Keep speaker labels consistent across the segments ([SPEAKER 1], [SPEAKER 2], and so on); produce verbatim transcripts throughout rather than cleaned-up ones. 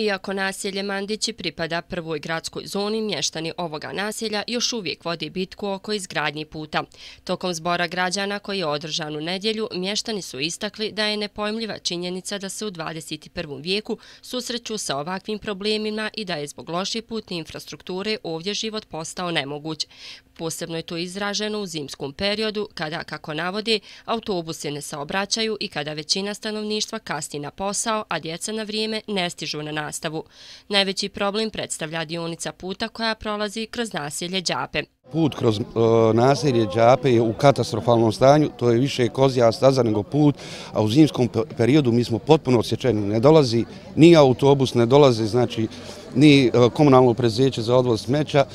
[SPEAKER 1] Iako naselje Mandići pripada prvoj gradskoj zoni, mještani ovoga naselja još uvijek vodi bitku oko izgradnji puta. Tokom zbora građana koji je održan u nedjelju, mještani su istakli da je nepojmljiva činjenica da se u dvadeset prvom vijeku susreću sa ovakvim problemima i da je zbog loše putne infrastrukture ovdje život postao nemoguć. Posebno je to izraženo u zimskom periodu kada, kako navode, autobusi ne saobraćaju i kada većina stanovništva kasni na posao, a djeca na vrijeme ne stižu na nastavu. Najveći problem predstavlja dionica puta koja prolazi kroz naselje Đape.
[SPEAKER 2] Put kroz uh, naselje Đape je u katastrofalnom stanju, to je više kozja staza nego put, a u zimskom periodu mi smo potpuno odsječeni. Ne dolazi ni autobus, ne dolazi znači ni uh, komunalno preduzeće za odvoz smeća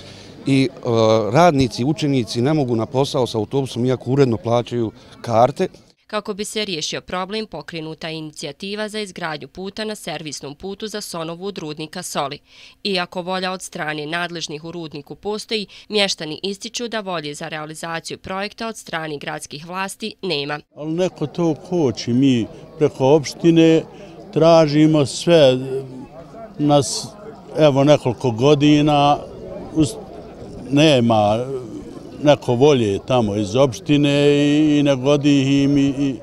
[SPEAKER 2] i uh, radnici, učenici ne mogu na posao sa autobusom iako uredno plaćaju karte.
[SPEAKER 1] Kako bi se riješio problem, pokrenuta je inicijativa za izgradnju puta na servisnom putu za Sonovu od rudnika Soli. Iako volja od strane nadležnih u rudniku postoji, mještani ističu da volje za realizaciju projekta od strane gradskih vlasti nema.
[SPEAKER 3] Ali neko to koči, mi preko opštine tražimo sve, nas evo nekoliko godina nema neko volje tamo iz opštine i ne godi im i...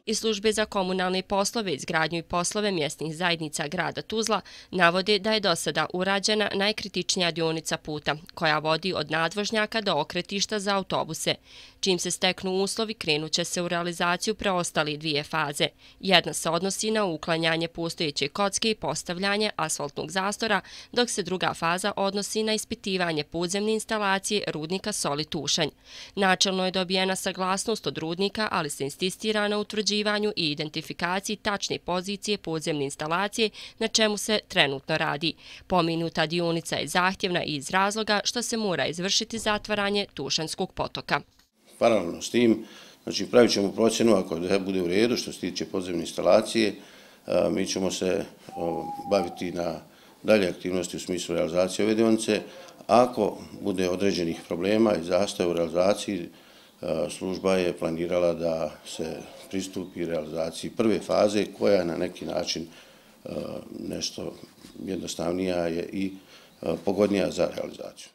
[SPEAKER 1] Iz službe za komunalne poslove, izgradnju i poslove mjesnih zajednica grada Tuzla navode da je do sada urađena najkritičnija dionica puta, koja vodi od nadvožnjaka do okretišta za autobuse. Čim se steknu uslovi, krenut će se u realizaciju preostali dvije faze. Jedna se odnosi na uklanjanje postojeće kocke i postavljanje asfaltnog zastora, dok se druga faza odnosi na ispitivanje podzemne instalacije rudnika Soli Tušanj. Načelno je dobijena saglasnost od rudnika, ali se insistira na utvrđivanju i identifikaciji tačne pozicije podzemne instalacije, na čemu se trenutno radi. Pomenuta dionica je zahtjevna i iz razloga što se mora izvršiti zatvaranje Tušanjskog potoka.
[SPEAKER 4] Paralelno s tim, znači pravit ćemo procjenu ako bude u redu što se tiče podzemne instalacije, mi ćemo se baviti na dalje aktivnosti u smislu realizacije ove dionice. Ako bude određenih problema i zastoja u realizaciji, služba je planirala da se pristupi realizaciji prve faze koja je na neki način nešto jednostavnija je i pogodnija za realizaciju.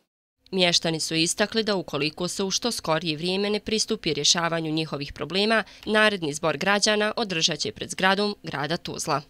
[SPEAKER 1] Mještani su istakli da ukoliko se u što skorije vrijeme ne pristupi rješavanju njihovih problema, naredni zbor građana održat će pred zgradom grada Tuzla.